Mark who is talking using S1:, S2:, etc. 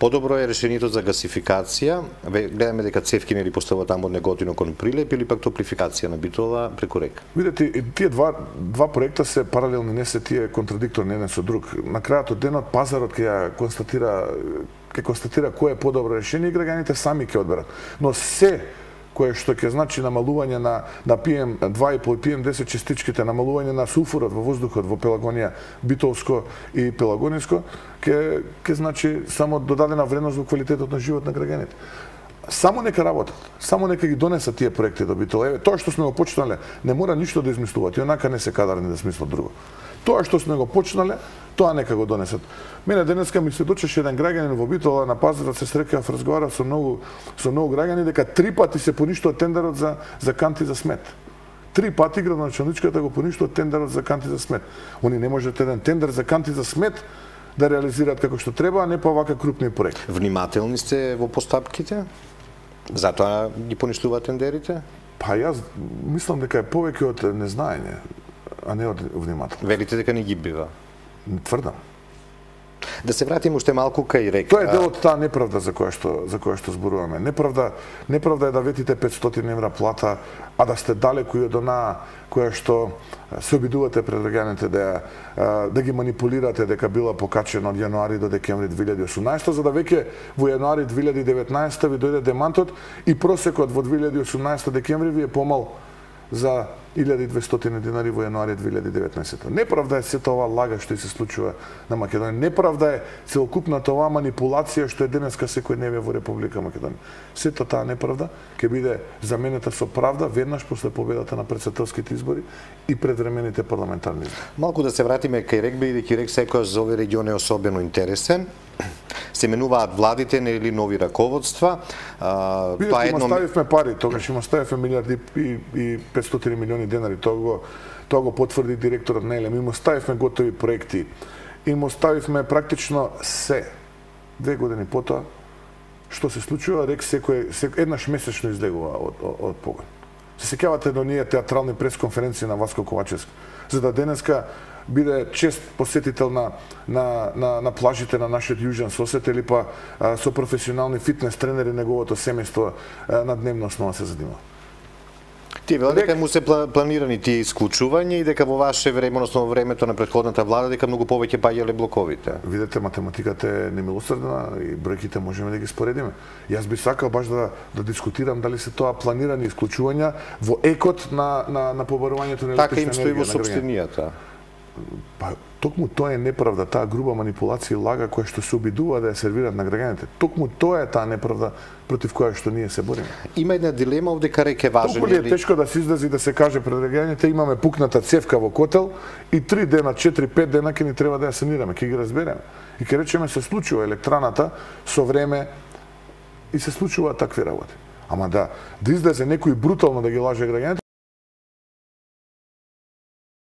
S1: Подобро е решението за гасификација. Гледаме дека цевки нели поставува таму од Неготино кон Прилеп или пак топлификација на Битола преку река.
S2: Видете, тие два проекта се паралелни, не се тие контрадикторни еден со друг. На крајот од денот пазарот ќе констатира кој е подобро решение и граѓаните сами ќе одберат. Но се кое што ќе значи намалување на PM2,5 и PM10 частичките, намалување на сулфурот во воздухот во Пелагонија, Битолско и Пелагониско, ќе значи само додадена вредност во квалитетот на живот на граѓаните. Само нека работат, само нека ги донесат тие проекти до Битола. Еве, тоа што сме го почнале, не мора ништо да измислуваат, и онака не се кадарни да смислат друго. Тоа што сме го почнале, тоа нека го донесат. Мене денеска ми се дочеше еден граѓанин во Битола на пазарот, се срекав, разговарав со многу граѓани дека 3 пати се поништува тендерот за канти за смет. 3 пати градоначалничката го поништува тендерот за канти за смет. Они не можат еден тендер за канти за смет да реализираат како што треба, а не па вака крупни проекти.
S1: Внимателни сте во постапките? Затоа ги поништуваат тендерите?
S2: Па јас мислам дека е повеќе од незнаење, а не од внимателност.
S1: Велите дека не ги бива?
S2: Тврдам.
S1: Да се вратиме уште малку кај река.
S2: Тоа е дел од таа неправда за која што зборуваме. Неправда е да ветите 500 евра плата, а да сте далеку и од онаа која што се обидувате пред граѓаните да ги манипулирате дека била покачена од јануари до декември 2018, за да веќе во јануари 2019 ви дојде демантот и просекот во 2018 декември ви е помал за 1200 динари во јануари 2019. Неправда е сета ова лага што се случува на Македонија. Неправда е целокупната оваа манипулација што е денеска секојдневие во Република Македонија. Сета таа неправда ќе биде заменета со правда веднаш после победата на претседателските избори и предвремените парламентарни избори.
S1: Малку да се вратиме кај рек, бидејќи рек секојаш за овој регион е особено интересен. Се менуваат владите или нови раководства.
S2: Тоа едно ставивме пари, тогаш има ставивме милиарди и 500 милиони денари, тоа го потврди директорот на ЕЛЕМ. Има ставивме готови проекти. И му ставивме практично се. 2 години потоа, што се случува, рек еднаш месечно излегува од погон. Се сеќавате до ние театрални пресконференции на Васко Ковачевски, за да денеска биде чест посетител на плажите на нашиот јужен сосед или па со професионални фитнес тренери неговото семејство на дневна основа се задима.
S1: Тие велат дека му се планирани тие исклучувања и дека во ваше време, односно во времето на претходната влада, дека многу повеќе паѓале блоковите.
S2: Видете, математиката е немилосрдна и бројките можеме да ги споредиме. Јас би сакал баш да дискутирам дали се тоа планирани исклучувања во екот на побарувањето на електрична енергија.
S1: Така им стои во сопштенијата.
S2: Па, токму тоа е неправда, таа груба манипулација и лага која што се обидува да ја сервираат на граѓаните. Токму тоа е таа неправда против која што ние се бориме.
S1: Има една дилема овде кај рек е важен.
S2: Толку ли е тешко да се излезе и да се каже пред граѓаните имаме пукната цевка во котел и 3 дена, 4-5 дена ќе ни треба да ја санираме, ќе ги разбереме. И ќе речеме се случува електраната со време и се случуваат такви работи. Ама да излезе некој брутално да ги лаже граѓаните,